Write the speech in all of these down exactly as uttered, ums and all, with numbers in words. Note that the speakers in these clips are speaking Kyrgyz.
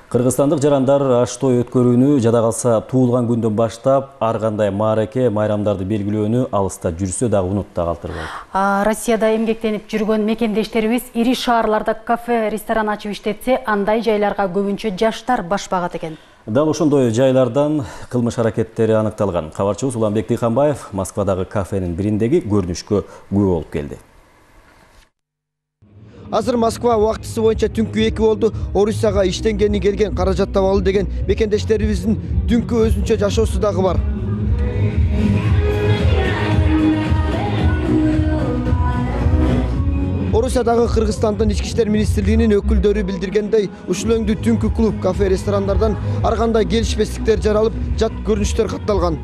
Кыргызстандык жарандар аш той өткөрүүнү жада калса туулган күндөн баштап ар кандай маареке, майрамдарды белгилөөнү алыста жүрсө дагы унутта калтырбайт. Россияда эмгектенип жүргөн мекендештерибиз ири шаарларда кафе, ресторан ачып иштетсе, андай жайларга көбүнчө жаштар баш багат экен. Дал ошондой жайлардан кылмыш аракеттери аныкталган. Кабарчыбыз Уланбек Тыйханбаев Москвадагы кафенин бириндеги көрүнүшкө күбө болуп келди. Азыр Москва убактысы боюнча түнкү эки болду. Орусияга иштенгени келген, каражат табалы деген мекендештерибиздин түнкү өзүнчө жашоосу дагы бар. Орусиядагы Кыргызстандын ички иштер министрлигинин өкүлдөрү билдиргендей, ушул өңдүү түнкү клуб, кафе, ресторандардан ар кандай келишпестиктер жаралып, жат көрүнүштөр катталган.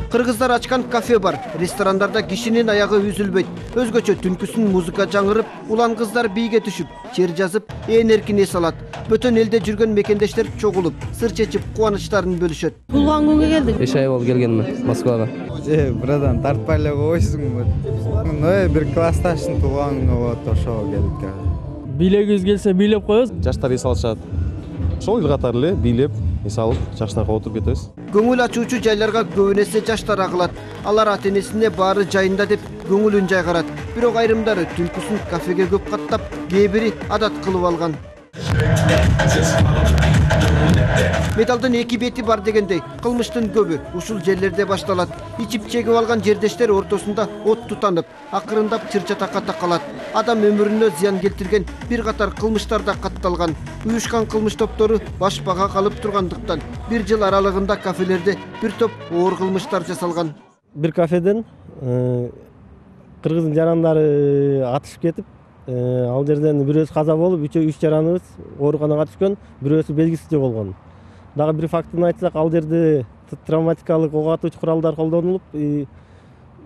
Кыргыздар ачкан кафе бар. Ресторандарда кишинин аягы үзүлбөйт. Өзгөчө түнкүсүн музыка жаңырып, улан кыздар бийге түшүп, чер жазып, ээн эркин эс алат. Бөтөн элде жүргөн мекендештер чогулуп, сыр чечип, кубанычтарын бөлүшөт. Туулган күнгө келдик. беш ай болду келгениме Москвага. Э, брадан, тартпай эле койсуңбу? Ну, бир классташтын туулган күнү болот, ошого келдик. Бийлегибиз келсе бийлеп коебуз. Жаштар эс алышат. Ошол эл катары эле бийлеп, эс алып, жаштарга отуруп кетебиз. Көңүл ачуучу жайларга көбүнесе жаштар агылат. Алар ата-энесине баары жайында деп көңүлүн жайгарат. Бирок айрымдары түнкүсүн кафеге көп каттап, кээ бири адат кылып алган. Металдын эки бети бар дегендей, кылмыштын көбү ушул жерлерде башталат. Ичип чегип алган жердештер ортосунда от тутанып, акырындап чыр-чатакка такалат. Адам өмүрүнө зыян келтирген бир катар кылмыштар да катталган. Уюшкан кылмыш топтору баш бага калып тургандыктан бир жыл аралыгында кафелерде бир топ оор кылмыштар жасалган. Бир кафеден кыргыздын жарандары атышып кетип, ал жерден бирөөсү каза болуп, үч жараныбыз ооруканага түшкөн, бирөөсү белгисиз жоголгон. Дагы бир фактын айтсак, ал жерде травматикалык ок атуучу куралдар колдонулуп,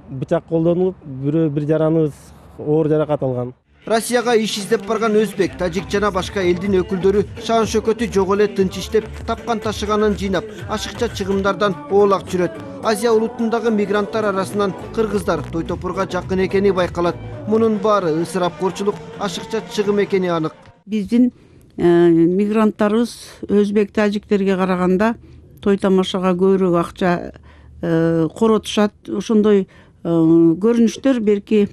бычак колдонулуп, бирөө бир жараныбыз оор жаракат алган. Россияга иш издеп барган өзбек, тажик жана башка элдин өкүлдөрү шаан шөкөтү жок эле тынч иштеп, тапкан ташыганын жыйнап, ашыкча чыгымдардан оолак жүрөт. Азия улутундагы мигранттар арасынан кыргыздар той топурга жакын экени байкалат. Мунун баары ысырапкорчулук, ашыкча чыгым экени анык. Биздин мигранттарыбыз өзбек, тажиктерге караганда той тамашага көбүрөөк акча коротушат. Ошондой көрүнүштөр берки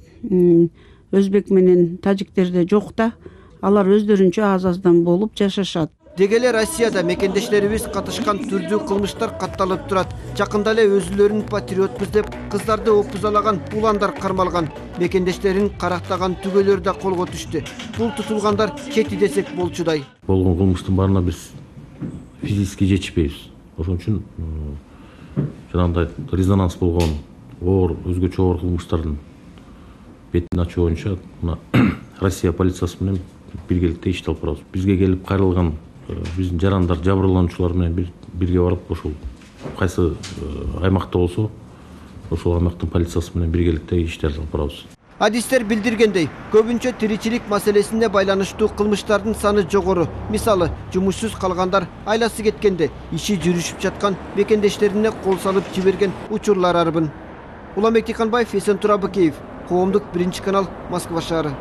өзбек менен тажиктерде жок да, алар өздөрүнчө аз-аздан болуп жашашат. Деги эле Россияда мекендештерибиз катышкан түрдүү кылмыштар катталып турат. Жакында эле өзүлөрүн патриотпуз деп кыздарды опузалаган уландар кармалган. Мекендештерин карактаган түгөлөр да колго түштү. Бул тутулгандар чети десек болчудай. Болгон кылмыштын баарына биз физически жетишпейбиз. Ошон үчүн жанагындай резонанс болгон оор, өзгөчө оор кылмыштардын бетин ачуу боюнча мына Россия полициясы менен биргеликте ишти алып барабыз. Бизге келип кайрылган биздин жарандар, жабырлануучулар менен бирге барып, ошол кайсы аймакта болсо, ошол аймактын полициясы менен биргеликте иштерди алып барабыз. Адистер билдиргендей, көбүнчө тиричилик маселесине байланыштуу кылмыштардын саны жогору. Мисалы, жумушсуз калгандар, айласы кеткенде, иши жүрүшүп жаткан мекендештерине кол салып жиберген учурлар арбын. Уланбек Тыйханбаев, Эсен Турабыкеев, Коомдук биринчи канал, Москва шаары.